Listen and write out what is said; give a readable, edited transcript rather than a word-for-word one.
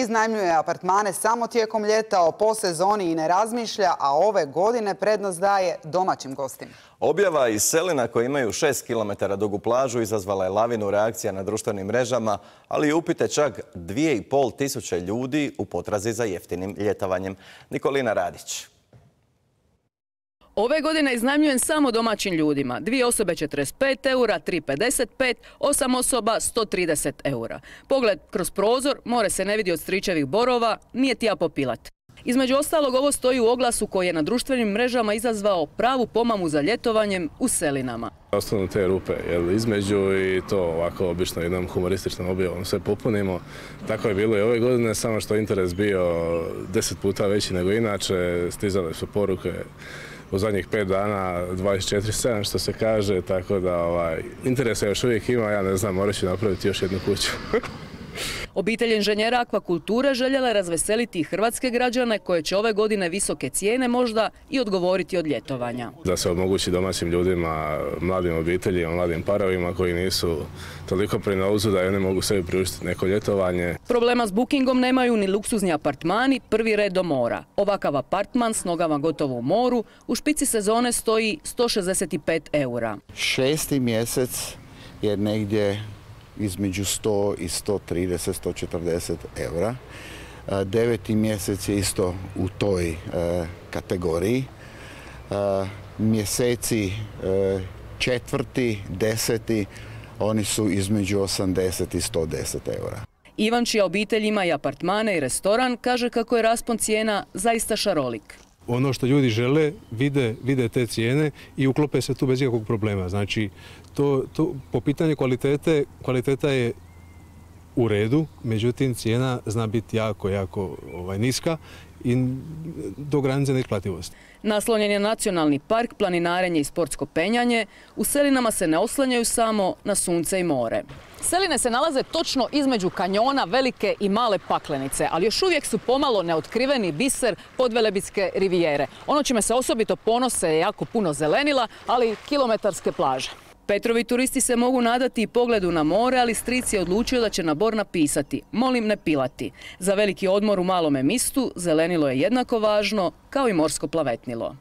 Iznajmljuje apartmane samo tijekom ljeta, o posezoni i ne razmišlja, a ove godine prednost daje domaćim gostima. Objava iz Selina koji imaju 6 km dugu plažu izazvala je lavinu reakcija na društvenim mrežama, ali i upite čak 2500 ljudi u potrazi za jeftinim ljetovanjem. Nikolina Radić. Ove godine iznajmljujem samo domaćim ljudima. 2 osobe 45 eura, 3 55, 8 osoba 130 eura. Pogled kroz prozor, more se ne vidi od stričevih borova, nije ti ja popilat. Između ostalog, ovo stoji u oglasu koji je na društvenim mrežama izazvao pravu pomamu za ljetovanjem u Selinama. Ostanu te rupe, jer između i to ovako obično jednom humorističnom objavom sve popunimo. Tako je bilo i ove godine, samo što interes bio 10 puta veći nego inače. Stizale su poruke u zadnjih 5 dana 24/7 što se kaže, tako da interesa još uvijek ima, ja ne znam, morat ću napraviti još jednu kuću. Obitelj inženjera akvakulture željela je razveseliti hrvatske građane koje će ove godine visoke cijene možda i odgovoriti od ljetovanja. Da se omogući domaćim ljudima, mladim obiteljima, mladim parovima koji nisu toliko pri novcu da oni mogu sebi priuštiti neko ljetovanje. Problema s bookingom nemaju ni luksuzni apartmani, prvi red do mora. Ovakav apartman s nogama gotovo u moru u špici sezone stoji 165 eura. 6. mjesec je negdje između 100 i 130, 140 eura. 9. mjesec je isto u toj kategoriji. Mjeseci 4., 10. oni su između 80 i 110 eura. Ivan, čija obitelj ima i apartmane i restoran, kaže kako je raspon cijena zaista šarolik. Ono što ljudi žele, vide te cijene i uklope se tu bez ikakvog problema. Znači, po pitanju kvaliteta je u redu, međutim cijena zna biti jako niska i do granice neisplativosti. Naslonjen je nacionalni park, planinarenje i sportsko penjanje. U Selinama se ne oslanjaju samo na sunce i more. Seline se nalaze točno između kanjona Velike i Male Paklenice, ali još uvijek su pomalo neotkriveni biser Podvelebitske rivijere. Ono čime se osobito ponose je jako puno zelenila, ali i kilometarske plaže. Petrovi turisti se mogu nadati i pogledu na more, ali stric je odlučio da će na bor napisati "Molim ne pilati". Za veliki odmor u Malome Mistu zelenilo je jednako važno kao i morsko plavetnilo.